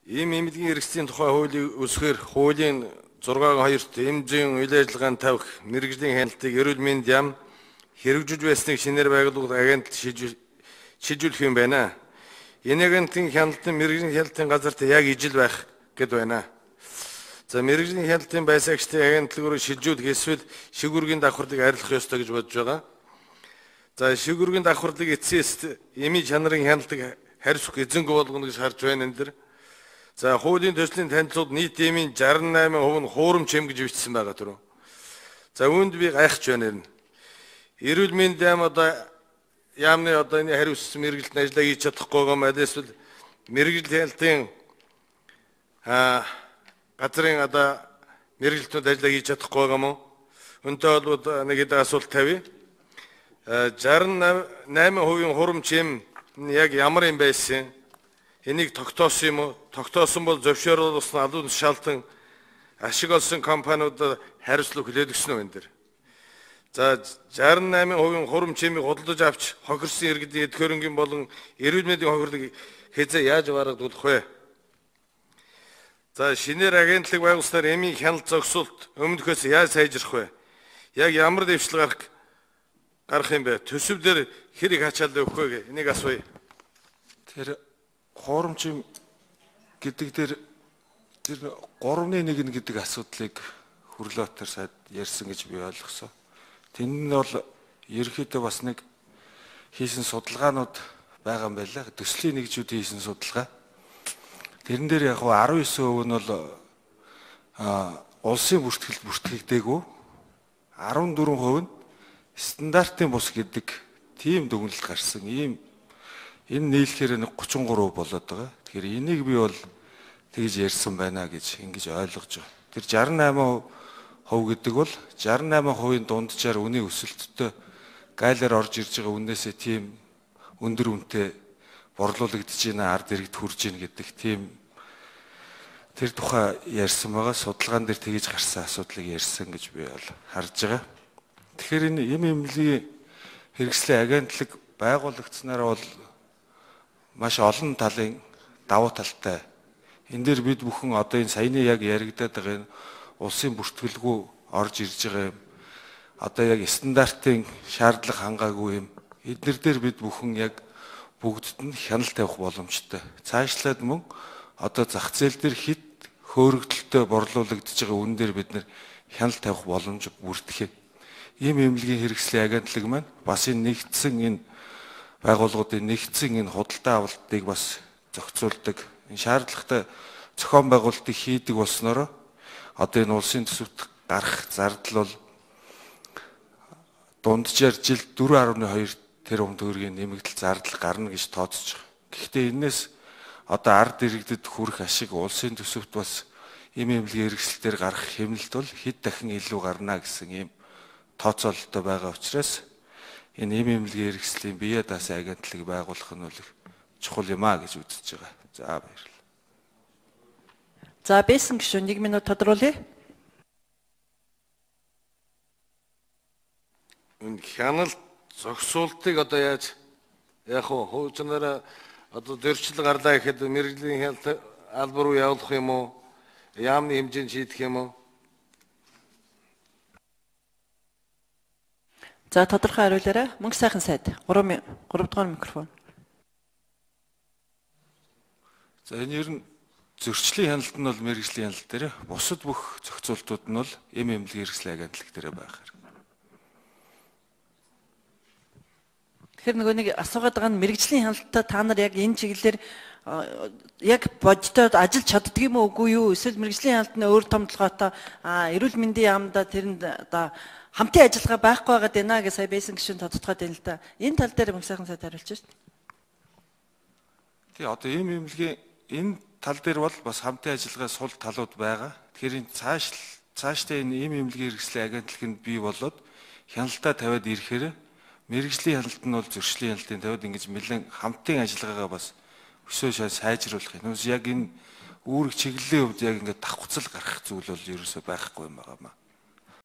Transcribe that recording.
Ийм эмнэлгийн хэрэгслийн тухай хуулийг үсгээр хуулийн 6-2-т эмзэн үйл ажиллагаанд тавих мэргэжлийн хяналтыг эрүүл мэнд яам хэрэгжиж байсныг шинээр байгууллагад агентлаг шийдвэрлэх юм байна. Энэ агентлагийн хяналтын мэргэжлийн хяналтын газарт яг ижил байх гэд байна. За мэргэжлийн хяналтын байсаагчдын агентлагаар шилжүүлэх эсвэл шигүргийн давхарлыг арилгах ёстой гэж бодож байгаа. За шигүргийн давхарлыг эцсээс эми чанарын хяналтыг харьцах эзэнгүй болгоно гэж харж байна энэ дэр. За хуулийн төслийн танилцуулд нийт эмийн 68% нь хуурамч эм гэж бичсэн байгаа түрүү. За үүнд би гайхаж байна. Эрүүл мэнд яам одоо яамны одоо энэ хариуцсан мэргэжилтэн ажиллаа хийж чадахгүй байгаа юм аа эсвэл мэргэжлийн хяналтын газрын одоо мэргэжилтнүүд ажиллаа хийж чадахгүй байгаа юм уу? Өнтэй холбоод нэг хэд асуулт тавья. 68% хуурамч эм яг ямар юм байсан? Энийг тогтоосон юм уу? Тогтоосон бол зөвшөөрлсөн алуун шалтан ашиг олсон компаниудад хариуцлага хүлээлгэсэн үү энэ дэр. За 68% хуурамч эмийг худалдаж авч хохирсон иргэдийн эд хөрөнгийн болон эрүүл мэндийн хохирлыг хэзээ яаж барагдуулах вэ? За шинээр агентлаг байгуулснаар эмийн хяналт зогсуулт өмнөхөөс яаж сайжрах вэ? Яг ямар дэвшил гарах юм бэ? Төсөв дээр хэрэг хачаал өгөх вэ? Энийг асууя. Тэр хуурамч эм гэдэг дээр тэр 3-1 гэдэг асуудлыг Хүрлөөтөр сайд ярьсан гэж би ойлгосон. Тэнд нь бол ерөнхийдөө бас нэг хийсэн судалгаанууд байгаа юм байлаа. Төслийн нэгжүүд хийсэн судалгаа. Тэрэн дээр яг 19% нь бол улсын бүртгэлд бүртгэгдээгүй. 14% нь стандартын бус гэдэг тийм дүгнэлт гарсан. Энэ нийлэхээр 33% болоод байгаа. Тэгэхээр энийг би бол тэгж ярьсан байна гэж ингэж ойлгож байгаа. Тэр 68% гэдэг бол 68%-ийн дунджаар үнийн өсөлттэй гайлаар орж ирж байгаа үнээсээ тийм өндөр үнэтэй борлуулагдж байна, ард иргэд хүрж байна гэдэг тийм тэр тухай ярьсан байгаа. Судалгаан дээр тэгж гарсан асуудлыг ярьсан гэж би бол харж байгаа. Тэгэхээр энэ эмнэлгийн хэрэгслийн агентлаг байгуулагдсанаар бол маш олон талын давуу талтай. Энэ дээр бид бүхэн одоо энэ саяны яг яригадаад байгаа энэ улсын бүртгэлгүй орж ирж байгаа юм. Одоо яг стандартын шаардлага хангаагүй юм. Эднэр дээр бид бүхэн яг бүгдд нь хяналт тавих боломжтой. Цаашлаад мөн одоо зах зээл дээр хит хөөрөгдөлтөй борлуулагдж байгаа үн дээр бид нэр хяналт тавих боломж бүрдэх юм. Ийм эмнэлгийн хэрэгслийн агентлаг маань бас энэ нэгдсэн энэ байгууллагуудын нэгдсэн энэ худалдаа авалтыг бас зохицуулдаг. Энэ шаардлагатай зохион байгуулалтыг хийдэг болсноор одоо энэ улсын төсөвт гарах зардал бол дунджаар жилд 4.2 тэрбум төгрөгийн нэмэгдэл зардал гарна гэж тооцож байгаа. Гэхдээ энэс одоо ард иргэдэд хүрэх ашиг улсын төсөвт бас эмнэлгийн хэрэгслэлээр гарах хэмнэлт бол хэд дахин илүү гарна гэсэн ийм тооцоололтой байгаа учраас энэ эмнэлгийн хэрэгслийн бие даасан агентлаг байгуулах нь бол чухал юм а гэж үзэж байгаа. За баярлалаа. За Бэсэн гишүүн 1 минут тодруулъя. Энэ хяналт зогсуултыг одоо яаж яг хуучнаараа одоо зөрчил гарлаа гэхэд мэргэжлийн хяналт албар руу явуулах юм уу? Яамны хэмжээнд шийдэх юм уу? За тодорхой хариулаарай. Мөнх сайхан сайд 3 дугаар микрофон. За энэ ер нь зөрчлийн хяналт нь бол мэргэжлийн хяналт дээр, бусад бүх зохицуултууд нь бол эмнэлгийн хэрэгслийн агентлаг дээр байх хэрэг. Тэгэхээр нөгөө нэг асуугаад байгаа нь мэргэжлийн хяналттай та нар яг энэ чиглэлээр яг бодитод ажиллаж чаддаг юм уу үгүй юу? Эсвэл мэргэжлийн хяналтны өөр том толгойтой эрүүл мэндийн яамда тэрэнд одоо хамтын ажиллагаа байхгүй байгаад байна гэж сая Бэсэн гишүүн тодтогдоод байна л да. Энэ тал дээр мөнх сайхан сайд хариулж шээ. Тий одоо эмнэлгийн энэ тал дээр бол бас хамтын ажиллагаа сул талууд байгаа. Тэгэхээр энэ цаашдаа энэ эмнэлгийн хэрэгслийн агентлаганд бий болоод хяналтаа тавиад ирэхээр мэргэжлийн хяналт нь бол зөрчлийн хяналтын тавиад ингэж нэлээд хамтын ажиллагаагаа бас өсөө сайжруулах юм. Яг энэ үүрэг чиглэлийн хувьд яг ингээд давхцал гарах зүйл бол ерөөсөй байхгүй юм байна.